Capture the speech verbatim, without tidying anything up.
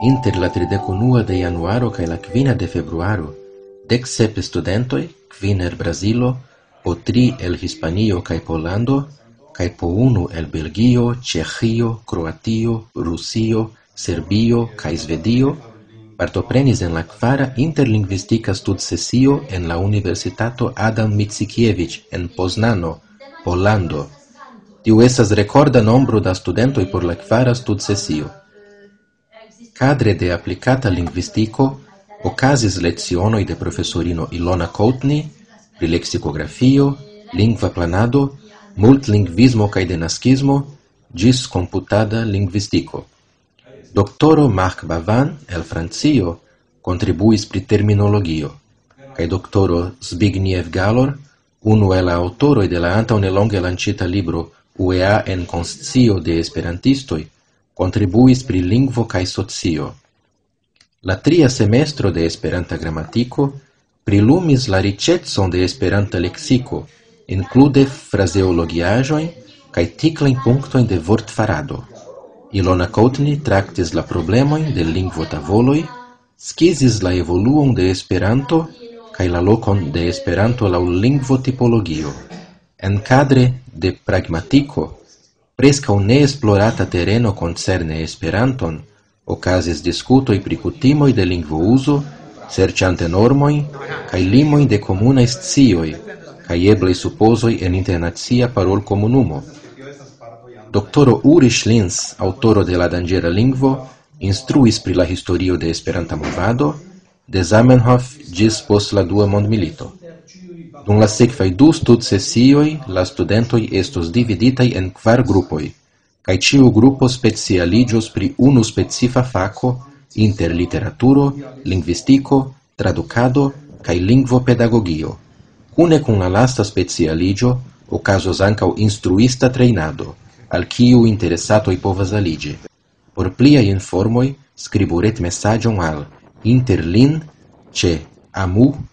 Inter la tridek unua de januaro kaj la kvina de februaro, deksep studentoj, kvin el Brazilo, po tri el Hispanio kaj Pollando, kaj po unu el Belgio, Ĉeĥio, Kroatio, Rusio, Serbio kaj Svedio, partoprenis en la kvara interlingvistika studsesio en la Universitato Adam Mickiewicz en Poznano, Pollando. Tiu estas rekorda nombro da studentoj por la kvara studsesio. Kadre de aplikata lingvistiko okazis lecionoj de profesorino Ilona Coutney pri leksikografio, lingva planado, multlingvismo kaj denaskismo, ĝis komputada lingvistiko. Doktoro Marc Bavan el Francio kontribuis pri terminologio, kaj doktoro Zbigniew Galor, unu el la aŭtoroj de la antaŭnelonge lanĉita libro U E A en konscio de esperantistoj, kontribuis pri lingvo kaj socio. La tria semestro de Esperanta gramatiko prilumis la riĉecon de Esperanta leksiko, inklude frazeologiaĵojn kaj tiklajn punktojn de vortfarado. Ilona Coutney traktis la problemojn de lingvotavoloj, skizis la evoluon de Esperanto kaj la lokon de Esperanto laŭ lingvotipologio. En kadre de pragmatiko, preskaŭ neesplorata tereno koncerne Esperanton, okazis diskutoj pri kutimoj de lingvouzo, serĉante normojn kaj limojn de komunaj scioj kaj eblaj supozoj en internacia parolkomunumo. Doktoro Ulrich Linz, aŭtoro de La danĝera lingvo, instruis pri la historio de Esperanta movado, de Zamenhof ĝis post la Dua Mondmilito. Dum la sekvaj du studsesioj la studentoj estos dividitaj en kvar grupoj, kaj ĉiu grupo specialiĝos pri unu specifa fako inter literaturo, lingvistiko, tradukado kaj lingvopedagogio. Kune kun la lasta specialiĝo okazos ankaŭ instruista trejnado, al kiu interesatoj povas aliĝi. Por pliaj informoj skribu retmesaĝon al interlin ĉe amu.edu.polo.